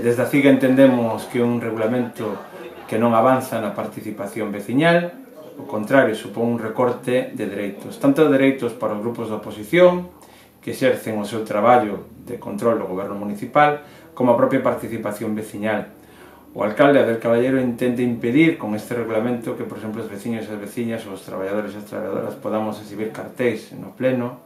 Desde a CIGA entendemos que é un regulamento que non avanza na participación veciñal, ao contrario, supón un recorte de dereitos, tanto de dereitos para os grupos da oposición, que exercen o seu traballo de control do goberno municipal, como a propia participación veciñal. O alcalde Abel Caballero intenta impedir con este regulamento que, por exemplo, os veciños e as veciñas ou os traballadores e as traballadoras podamos exhibir cartéis no pleno,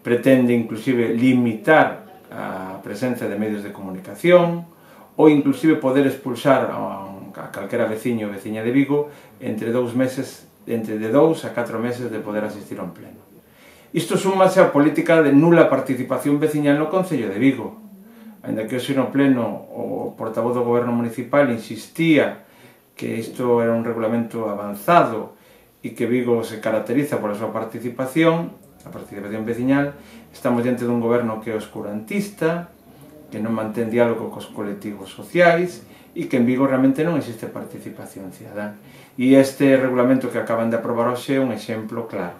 pretende inclusive limitar a presencia de medios de comunicación ou inclusive poder expulsar a calquera veciño ou veciña de Vigo entre 2 meses, entre de 2 a 4 meses de poder asistir a un pleno. Isto súmase á política de nula participación veciñal no Concello de Vigo. Ainda que hoxe no pleno o portavoz do goberno municipal insistía que isto era un regulamento avanzado e que Vigo se caracteriza pola súa participación, a participación veciñal, estamos diante dun goberno que é oscurantista, que non mantén diálogo cos colectivos sociais e que en Vigo realmente non existe participación cidadá. E este regulamento que acaban de aprobar hoxe é un exemplo claro.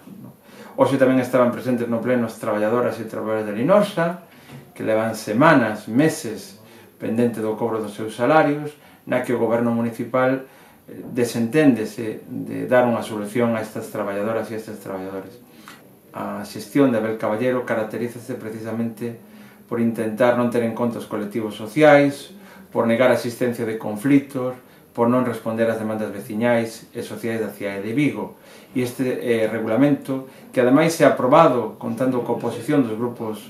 Hoxe tamén estaban presentes no pleno as traballadoras e traballadores de Linosa, que levan semanas, meses, pendente do cobro dos seus salarios, na que o goberno municipal desenténdese de dar unha solución a estas traballadoras e a estes traballadores. A xestión de Abel Caballero caracterízase precisamente por intentar non ter en conta os colectivos sociais, por negar a existencia de conflitos, por non responder ás demandas veciñais e sociais da cidade de Vigo. E este regulamento, que ademais se ha aprobado contando coa oposición dos grupos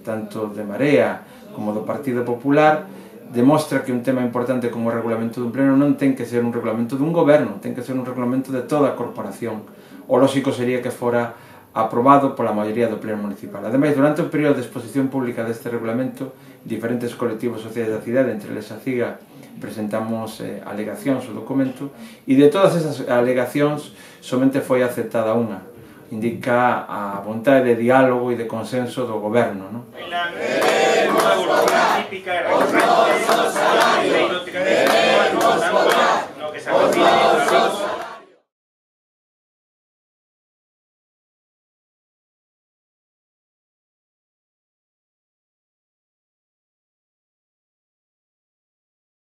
tanto de Marea como do Partido Popular, demostra que un tema importante como o regulamento dun pleno non ten que ser un regulamento dun goberno, ten que ser un regulamento de toda a corporación. O lógico sería que fora aprobado pola maioría do pleno municipal. Ademais, durante o período de exposición pública deste regulamento, diferentes colectivos sociais da cidade, entre eles a CIGA, presentamos alegacións ao documento, e de todas esas alegacións somente foi aceptada unha. Indica a vontade de diálogo e de consenso do goberno, non?